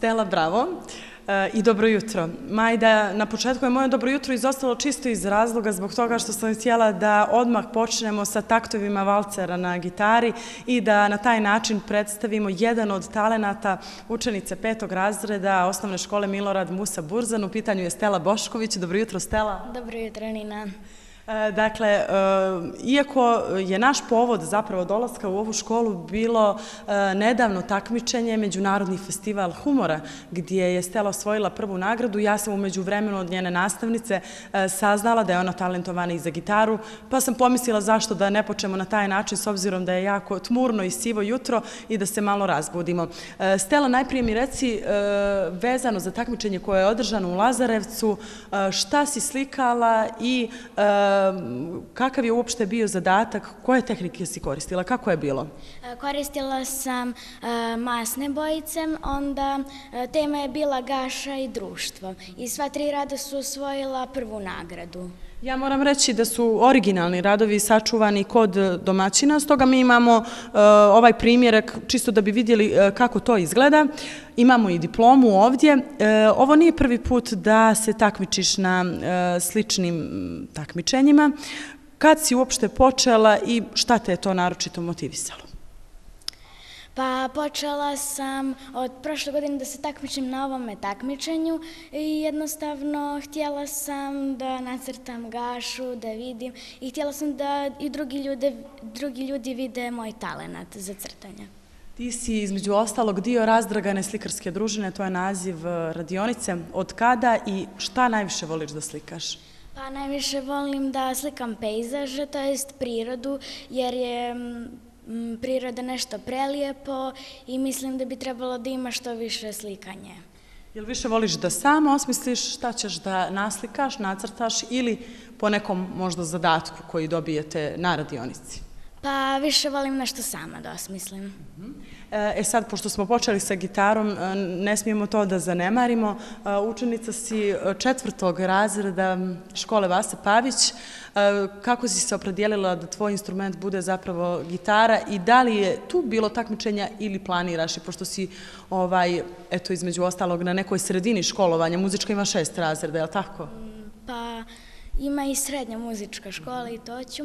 Stela, bravo i dobro jutro. Majda, na početku je moje dobro jutro izostalo čisto iz razloga zbog toga što sam htjela da odmah počnemo sa taktovima valcera na gitari i da na taj način predstavimo jedan od talenata učenice 5. razreda osnovne škole Milorad Musa Burzan. U pitanju je Stela Bošković. Dobro jutro, Stela. Dobro jutro, Nina. Dakle, iako je naš povod zapravo dolaska u ovu školu bilo nedavno takmičenje Međunarodni festival humora gdje je Stela osvojila prvu nagradu, ja sam u međuvremenu od njene nastavnice saznala da je ona talentovana i za gitaru, pa sam pomislila zašto da ne počnemo na taj način s obzirom da je jako tmurno i sivo jutro i da se malo razbudimo. Stela, najprije mi reci vezano za takmičenje koje je održano u Lazarevcu, šta si slikala i kakav je uopšte bio zadatak, koje tehnike si koristila, kako je bilo? Koristila sam masne bojice, onda tema je bila gaša i društvo i sva 3 rada su osvojila prvu nagradu. Ja moram reći da su originalni radovi sačuvani kod domaćina, stoga mi imamo ovaj primjerak čisto da bi vidjeli kako to izgleda. Imamo i diplomu ovdje. Ovo nije prvi put da se takmičiš na sličnim takmičenjima. Kad si uopšte počela i šta te je to naročito motivisalo? Pa počela sam od prošle godine da se takmičim na ovome takmičenju i jednostavno htjela sam da nacrtam gašu, da vidim i htjela sam da i drugi ljudi vide moj talenat za crtanje. Ti si između ostalog dio Razdragane slikarske družine, to je naziv radionice. Od kada i šta najviše voliš da slikaš? Pa najviše volim da slikam pejzaže, to jest prirodu, jer je priroda nešto prelijepo i mislim da bi trebalo da ima što više slikanje. Jel više voliš da sama osmisliš šta ćeš da naslikaš, nacrtaš ili po nekom možda zadatku koji dobijete na radionici? Pa više volim nešto sama da osmislim. Sad, pošto smo počeli sa gitarom, ne smijemo to da zanemarimo. Učenica si 4. razreda škole Vase Pavić. Kako si se opredijelila da tvoj instrument bude zapravo gitara i da li je tu bilo takmičenja ili planiraš? I pošto si, eto, između ostalog, na nekoj sredini školovanja, muzička ima 6 razreda, je li tako? Pa ima i srednja muzička škola i to ću.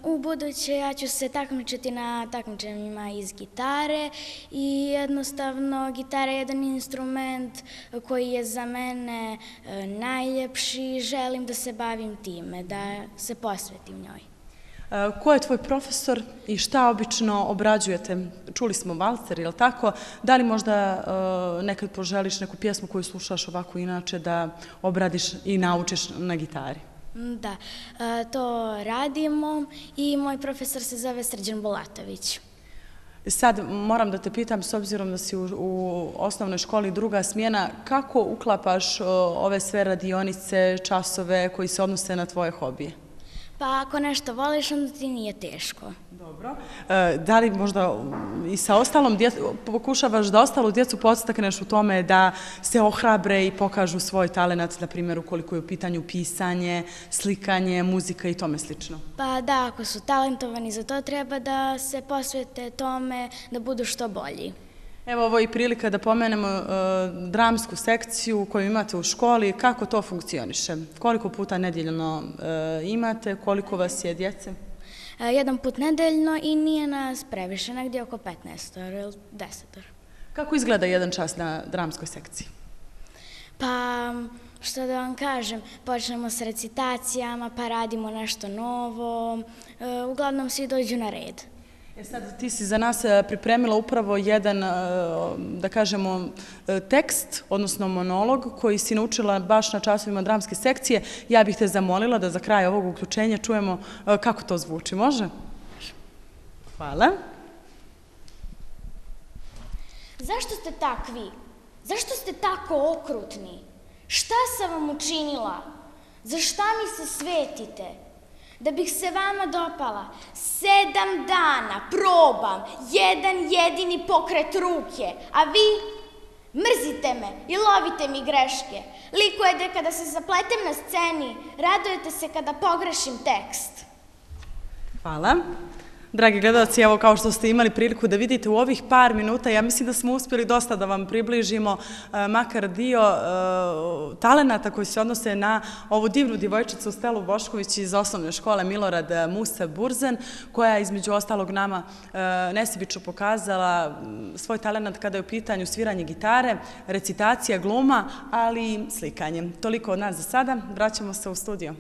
U buduće ja ću se takmičiti na takmičenjima iz gitare i jednostavno gitara je jedan instrument koji je za mene najljepši. Želim da se bavim time, da se posvetim njoj. Ko je tvoj profesor i šta obično obrađujete? Čuli smo valcer, je li tako? Da li možda nekad poželiš neku pjesmu koju slušaš ovako inače da obradiš i naučiš na gitari? Da, to radimo i moj profesor se zove Srđan Bulatović. Sad moram da te pitam, s obzirom da si u osnovnoj školi 2. smjena, kako uklapaš ove sve radionice, časove koji se odnose na tvoje hobije? Pa ako nešto voliš, onda ti nije teško. Dobro. Da li možda i sa ostalom pokušavaš da ostalu djecu podstakneš u tome da se ohrabre i pokažu svoj talenat, na primjer ukoliko je u pitanju pisanje, slikanje, muzika i tome slično? Pa da, ako su talentovani za to, treba da se posvete tome da budu što bolji. Evo, ovo je i prilika da pomenemo dramsku sekciju koju imate u školi. Kako to funkcioniše? Koliko puta nedeljno imate? Koliko vas je djece? 1 put nedeljno i nije nas previše, negdje oko 15 ili 10. Kako izgleda jedan čas na dramskoj sekciji? Pa, što da vam kažem, počnemo s recitacijama, pa radimo nešto novo. Uglavnom svi dođu na red. Sad ti si za nas pripremila upravo jedan, da kažemo, tekst, odnosno monolog koji si naučila baš na časovima dramske sekcije. Ja bih te zamolila da za kraj ovog uključenja čujemo kako to zvuči. Može? Hvala. Zašto ste takvi? Zašto ste tako okrutni? Šta sam vam učinila? Za šta mi se svetite? Da bih se vama dopala, 7 dana probam jedan jedini pokret ruke, a vi mrzite me i lovite mi greške. Likujete kada se zapletem na sceni, radujete se kada pogrešim tekst. Hvala. Dragi gledalci, evo kao što ste imali priliku da vidite u ovih par minuta, ja mislim da smo uspjeli dosta da vam približimo makar dio talenata koji se odnose na ovu divnu djevojčicu Stelu Bošković iz osnovne škole Milorad Musa Burzen, koja je između ostalog nama nesebično pokazala svoj talenat kada je u pitanju sviranje gitare, recitacija, gluma, ali i slikanje. Toliko od nas za sada, vraćamo se u studio.